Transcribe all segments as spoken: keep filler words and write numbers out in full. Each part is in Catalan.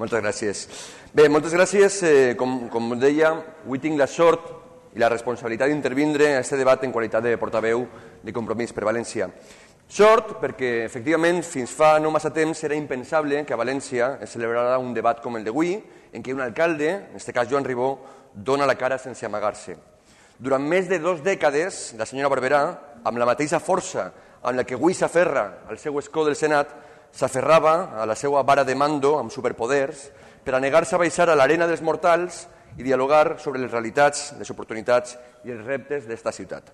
Moltes gràcies. Bé, moltes gràcies. Eh, com, com deia, avui tinc la sort i la responsabilitat d'intervindre a aquest debat en qualitat de portaveu de Compromís per València. Sort perquè, efectivament, fins fa no massa temps era impensable que a València es celebrara un debat com el d'avui, en què un alcalde, en aquest cas Joan Ribó, dona la cara sense amagar-se. Durant més de dues dècades, la senyora Barberà, amb la mateixa força amb la que avui s'aferra al seu escó del Senat, s'aferrava a la seva vara de mando amb superpoders per a negar-se a baixar a l'arena dels mortals i dialogar sobre les realitats, les oportunitats i els reptes d'esta ciutat.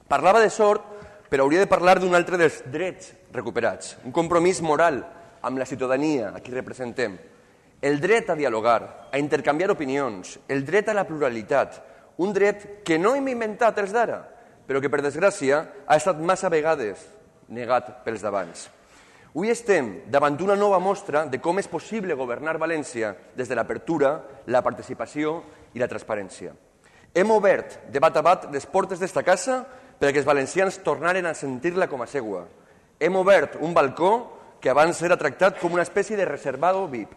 Parlava de sort, però hauria de parlar d'un altre dels drets recuperats, un compromís moral amb la ciutadania a qui representem, el dret a dialogar, a intercanviar opinions, el dret a la pluralitat, un dret que no hem inventat els d'ara, però que, per desgràcia, ha estat massa vegades negat pels d'abans. Avui estem davant d'una nova mostra de com és possible governar València des de l'apertura, la participació i la transparència. Hem obert de bat a bat les portes d'esta casa perquè els valencians tornaren a sentir-la com a seua. Hem obert un balcó que abans era tractat com una espècie de reservado V I P.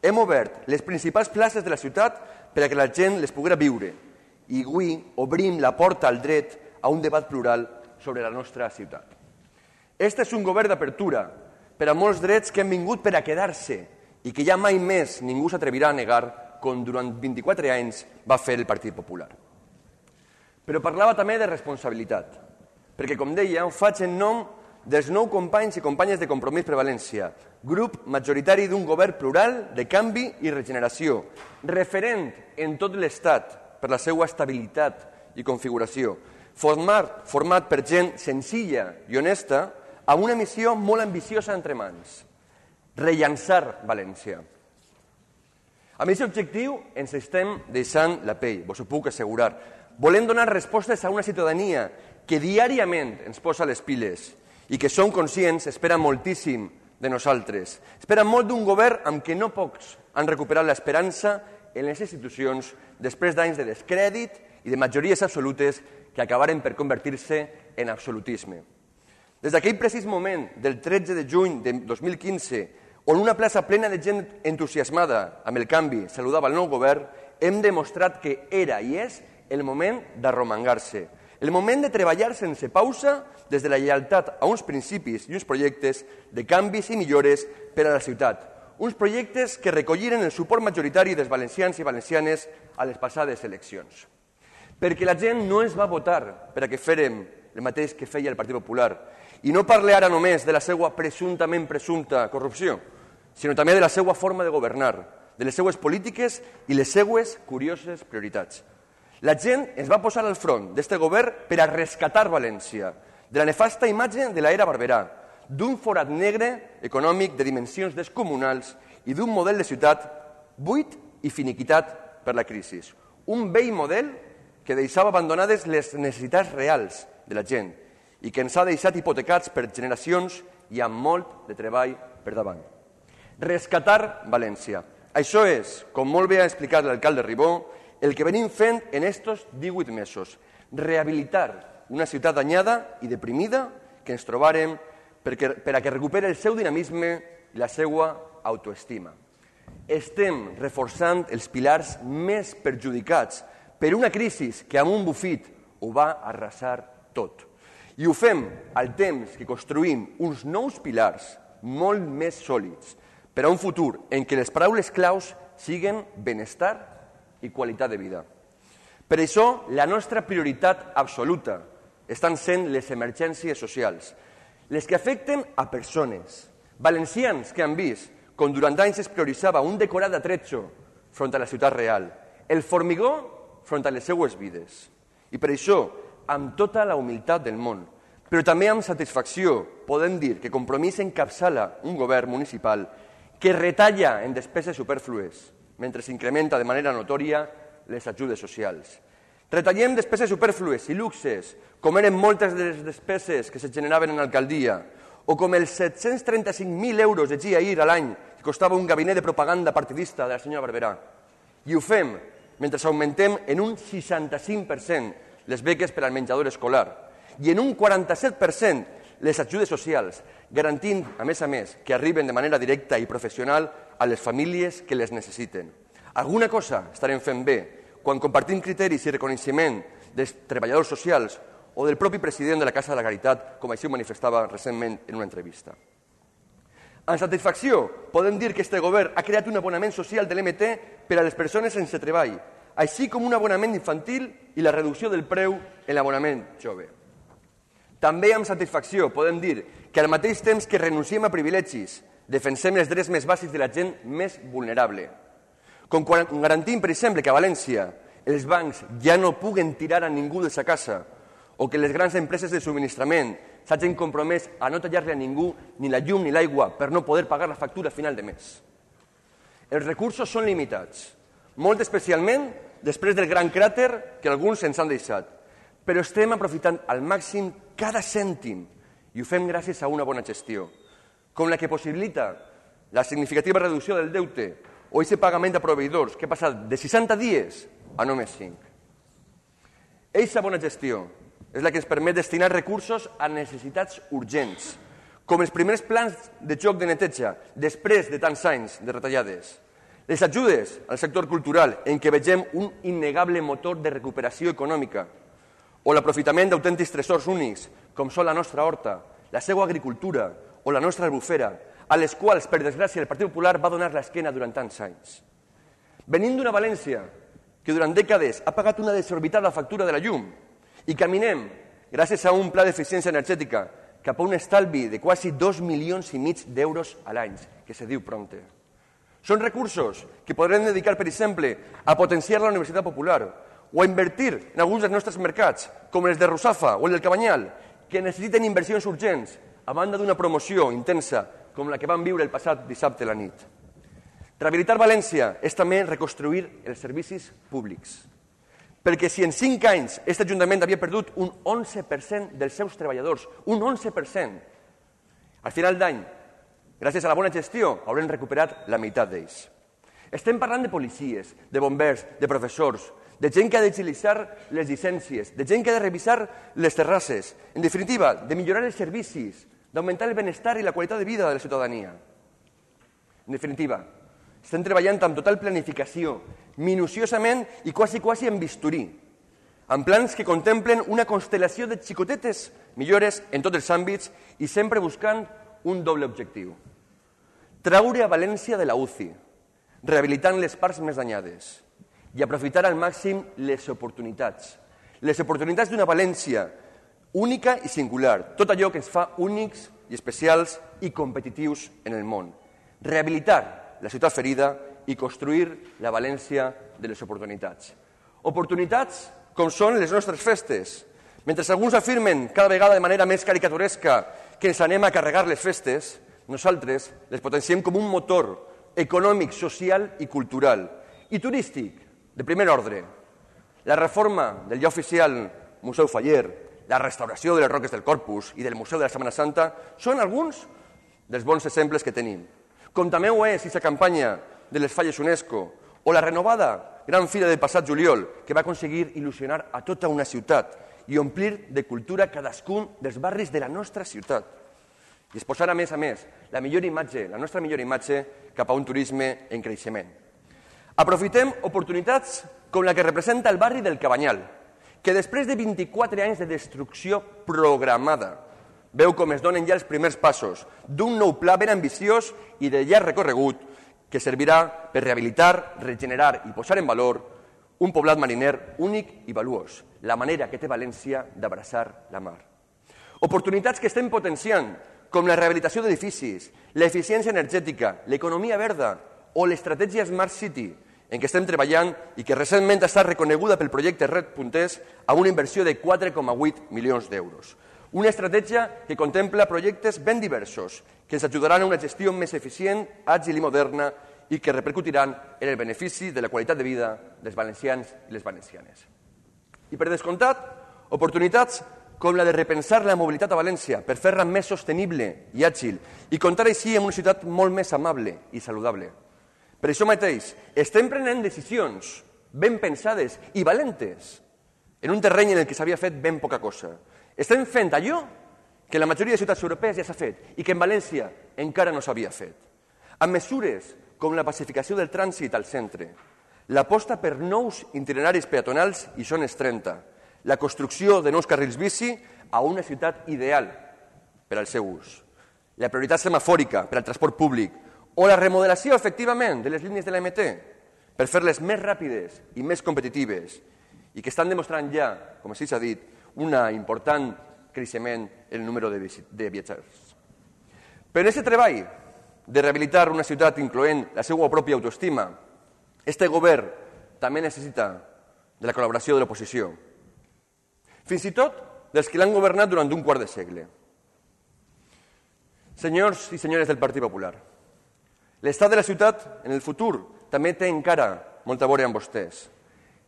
Hem obert les principals places de la ciutat perquè la gent les poguera viure. I avui obrim la porta al dret a un debat plural sobre la nostra ciutat. Este és un govern d'apertura per a molts drets que han vingut per a quedar-se i que ja mai més ningú s'atrevirà a negar com durant vint-i-quatre anys va fer el Partit Popular. Però parlava també de responsabilitat, perquè, com deia, ho faig en nom dels nou companys i companyes de Compromís per València, grup majoritari d'un govern plural de canvi i regeneració, referent en tot l'Estat per la seva estabilitat i configuració, format, format per gent senzilla i honesta amb una missió molt ambiciosa entre mans, rellançar València. Amb aquest objectiu ens estem deixant la pell, vos ho puc assegurar. Volem donar respostes a una ciutadania que diàriament ens posa les piles i que som conscients espera moltíssim de nosaltres. Espera molt d'un govern amb què no pocs han recuperat l'esperança en les institucions després d'anys de descrèdit i de majories absolutes que acabaren per convertir-se en absolutisme. Des d'aquell precís moment del tretze de juny de dos mil quinze, on una plaça plena de gent entusiasmada amb el canvi saludava el nou govern, hem demostrat que era i és el moment d'arromangar-se, el moment de treballar sense pausa des de la lleialtat a uns principis i uns projectes de canvis i millores per a la ciutat, uns projectes que recolliren el suport majoritari dels valencians i valencianes a les passades eleccions. Perquè la gent no ens va votar per a que fèrem el mateix que feia el Partit Popular. I no parle ara només de la seva presumptament presumpta corrupció, sinó també de la seva forma de governar, de les seues polítiques i les seues curioses prioritats. La gent es va posar al front d'aquest govern per a rescatar València, de la nefasta imatge de l'era Barberà, d'un forat negre econòmic de dimensions descomunals i d'un model de ciutat buit i finiquitat per la crisi. Un vell model que deixava abandonades les necessitats reals de la gent i que ens ha deixat hipotecats per generacions i amb molt de treball per davant. Rescatar València. Això és, com molt bé ha explicat l'alcalde Ribó, el que venim fent en estos divuit mesos. Rehabilitar una ciutat danyada i deprimida que ens trobarem perquè, per a que recuperi el seu dinamisme i la seva autoestima. Estem reforçant els pilars més perjudicats per una crisi que amb un bufit ho va arrasar tot. I ho fem al temps que construïm uns nous pilars molt més sòlids per a un futur en què les paraules claus siguen benestar i qualitat de vida. Per això, la nostra prioritat absoluta estan sent les emergències socials, les que afecten a persones, valencians que han vist com durant anys es prioritzava un decorat d'atretxo front a la ciutat real, el formigó front a les seues vides. I per això, amb tota la humilitat del món, però també amb satisfacció, podem dir que Compromís encapçala un govern municipal que retalla en despeses superflues, mentre s'incrementa de manera notòria les ajudes socials. Retallem despeses superflues i luxes, com eren moltes de les despeses que se generaven en alcaldia, o com els set-cents trenta-cinc mil euros de G I A a l'any que costava un gabinet de propaganda partidista de la senyora Barberà. I ho fem mentre augmentem en un seixanta-cinc per cent les beques per al menjador escolar i en un quaranta-set per cent les ajudes socials, garantint, a més a més, que arriben de manera directa i professional a les famílies que les necessiten. Alguna cosa estarem fent bé quan compartim criteris i reconeixement dels treballadors socials o del propi president de la Casa de la Caritat, com així ho manifestava recentment en una entrevista. Amb satisfacció podem dir que este govern ha creat un abonament social de l'M T per a les persones sense treball, així com un abonament infantil i la reducció del preu en l'abonament jove. També amb satisfacció podem dir que al mateix temps que renunciem a privilegis, defensem els drets més bàsics de la gent més vulnerable. Com quan garantim, per exemple, que a València els bancs ja no puguen tirar a ningú de sa casa o que les grans empreses de subministrament s'hagin compromès a no tallar-li a ningú ni la llum ni l'aigua per no poder pagar la factura a final de mes. Els recursos són limitats, molt especialment després del gran cràter que alguns ens han deixat, però estem aprofitant al màxim cada cèntim i ho fem gràcies a una bona gestió, com la que possibilita la significativa reducció del deute o aquest pagament a proveïdors que ha passat de seixanta dies a només cinc. Eixa bona gestió és la que ens permet destinar recursos a necessitats urgents, com els primers plans de joc de neteja després de tants anys de retallades, les ajudes al sector cultural en què vegem un innegable motor de recuperació econòmica, o l'aprofitament d'autèntics tresors únics, com són la nostra horta, la seva agricultura o la nostra albufera, a les quals, per desgràcia, el Partit Popular va donar l'esquena durant tants anys. Venim d'una València que durant dècades ha pagat una desorbitada factura de la llum i caminem, gràcies a un pla d'eficiència energètica, cap a un estalvi de quasi dos milions i mig d'euros a l'any, que se diu prompte. Són recursos que podrem dedicar, per exemple, a potenciar la Universitat Popular o a invertir en alguns dels nostres mercats, com els de Russafa o el del Cabanyal, que necessiten inversions urgents, a banda d'una promoció intensa com la que vam viure el passat dissabte a la nit. Rehabilitar València és també reconstruir els servicis públics, perquè si en cinc anys aquest Ajuntament havia perdut un onze per cent dels seus treballadors, un onze per cent, al final d'any, gràcies a la bona gestió, haurem recuperat la meitat d'ells. Estem parlant de policies, de bombers, de professors, de gent que ha d'agilitzar les llicències, de gent que ha de revisar les terrasses, en definitiva, de millorar els servicis, d'augmentar el benestar i la qualitat de vida de la ciutadania. En definitiva, estem treballant amb total planificació, minuciosament i quasi, quasi en bisturí, amb plans que contemplen una constel·lació de xicotetes millores en tots els àmbits i sempre buscant un doble objectiu. Traure a València de la U C I, rehabilitant les parts més danyades i aprofitar al màxim les oportunitats. Les oportunitats d'una València única i singular, tot allò que ens fa únics i especials i competitius en el món. Rehabilitar la ciutat ferida i construir la València de les oportunitats. Oportunitats com són les nostres festes. Mentre alguns afirmen cada vegada de manera més caricaturesca que ens anem a carregar les festes, nosaltres les potenciem com un motor econòmic, social i cultural, i turístic, de primer ordre. La reforma del ja oficial Museu Faller, la restauració de les Roques del Corpus i del Museu de la Setmana Santa són alguns dels bons exemples que tenim. Com també ho és aquesta campanya de les falles UNESCO o la renovada Gran Fira del passat juliol, que va aconseguir il·lusionar a tota una ciutat i omplir de cultura cadascun dels barris de la nostra ciutat. I exposar, a més a més, la millor imatge, la nostra millor imatge cap a un turisme en creixement. Aprofitem oportunitats com la que representa el barri del Cabanyal, que després de vint-i-quatre anys de destrucció programada veu com es donen ja els primers passos d'un nou pla ben ambiciós i de llarg recorregut que servirà per rehabilitar, regenerar i posar en valor un poblat mariner únic i valuós, la manera que té València d'abraçar la mar. Oportunitats que estem potenciant, com la rehabilitació d'edificis, l'eficiència energètica, l'economia verda o l'estratègia Smart City, en què estem treballant i que recentment ha estat reconeguda pel projecte Red Punters amb una inversió de quatre coma vuit milions d'euros. Una estratègia que contempla projectes ben diversos, que ens ajudaran a una gestió més eficient, àgil i moderna i que repercutiran en el benefici de la qualitat de vida dels valencians i les valencianes. I per descomptat, oportunitats com la de repensar la mobilitat a València per fer-la més sostenible i àgil i comptar així amb una ciutat molt més amable i saludable. Per això mateix, estem prenent decisions ben pensades i valentes en un terreny en el que s'havia fet ben poca cosa. Estem fent allò que en la majoria de ciutats europees ja s'ha fet i que en València encara no s'havia fet. Amb mesures com la pacificació del trànsit al centre, l'aposta per nous itineraris peatonals i zones trenta, la construcció de nous carrils bici a una ciutat ideal per al seu ús, la prioritat semafòrica per al transport públic o la remodelació, efectivament, de les línies de la M T per fer-les més ràpides i més competitives i que estan demostrant ja, com així s'ha dit, un important creixement en el número de, de viatgers. Però en aquest treball de rehabilitar una ciutat incloent la seva pròpia autoestima, este govern també necessita de la col·laboració de l'oposició, fins i tot dels que l'han governat durant un quart de segle. Senyors i senyores del Partit Popular, l'estat de la ciutat en el futur també té encara molta a veure amb vostès,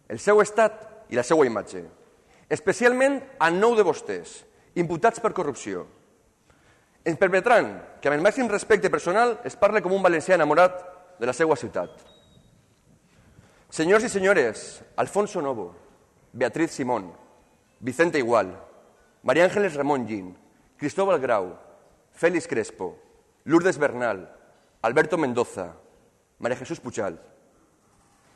el seu estat i la seva imatge, especialment a nou de vostès, imputats per corrupció. Ens permetran que amb el màxim respecte personal es parle com un valencià enamorat de la seva ciutat. Senyors i senyores, Alfonso Novo, Beatriz Simón, Vicente Igual, María Ángeles Ramón Gin, Cristóbal Grau, Félix Crespo, Lourdes Bernal, Alberto Mendoza, María Jesús Puchal.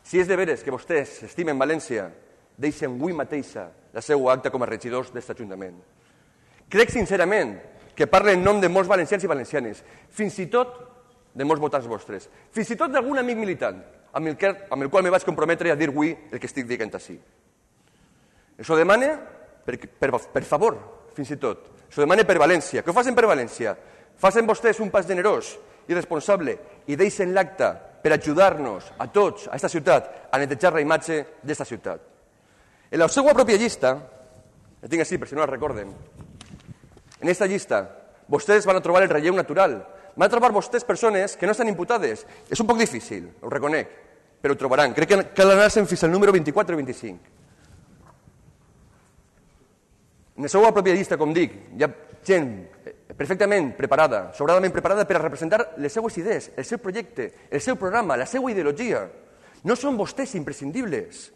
Si és de veres que vostès estimen València, deixen avui mateixa la seva acta com a regidors d'aquest Ajuntament. Crec sincerament que parla en nom de molts valencians i valencianes, fins i tot de molts votants vostres, fins i tot d'algun amic militant, amb el, que, amb el qual me vaig comprometre a dir avui el que estic dient així. Això demana, per, per, per favor, fins i tot, això demana per València. Què ho facin per València? Facin vostès un pas generós i responsable i deixen l'acte per ajudar-nos a tots, a aquesta ciutat, a netejar la imatge d'aquesta ciutat. En la seva pròpia llista, la tinc així per si no la recorden, en aquesta llista vostès van a trobar el relleu natural, van a trobar vostès persones que no estan imputades. És un poc difícil, ho reconec, però ho trobaran. Crec que cal anar-se'n fins al número vint-i-quatre o vint-i-cinc. En la seva pròpia llista, com dic, hi ha gent perfectament preparada, sobradament preparada per a representar les seues idees, el seu projecte, el seu programa, la seva ideologia. No són vostès imprescindibles.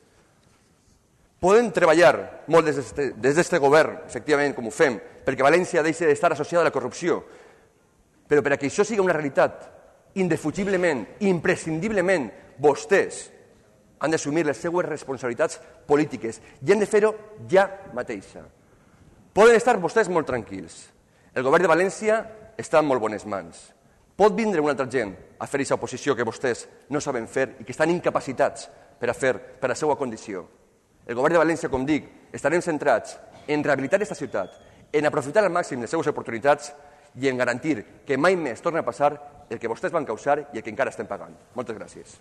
Poden treballar molt des d'aquest govern, efectivament, com ho fem, perquè València deixi d'estar associada a la corrupció, però per a que això sigui una realitat, indefugiblement, imprescindiblement, vostès han d'assumir les seues responsabilitats polítiques i han de fer-ho ja mateixa. Poden estar vostès molt tranquils. El govern de València està en molt bones mans. Pot vindre una altra gent a fer aquesta oposició que vostès no saben fer i que estan incapacitats per a fer per a la seva condició. El govern de València, com dic, estarem centrats en rehabilitar aquesta ciutat, en aprofitar al màxim les seves oportunitats i en garantir que mai més torni a passar el que vostès van causar i el que encara estem pagant. Moltes gràcies.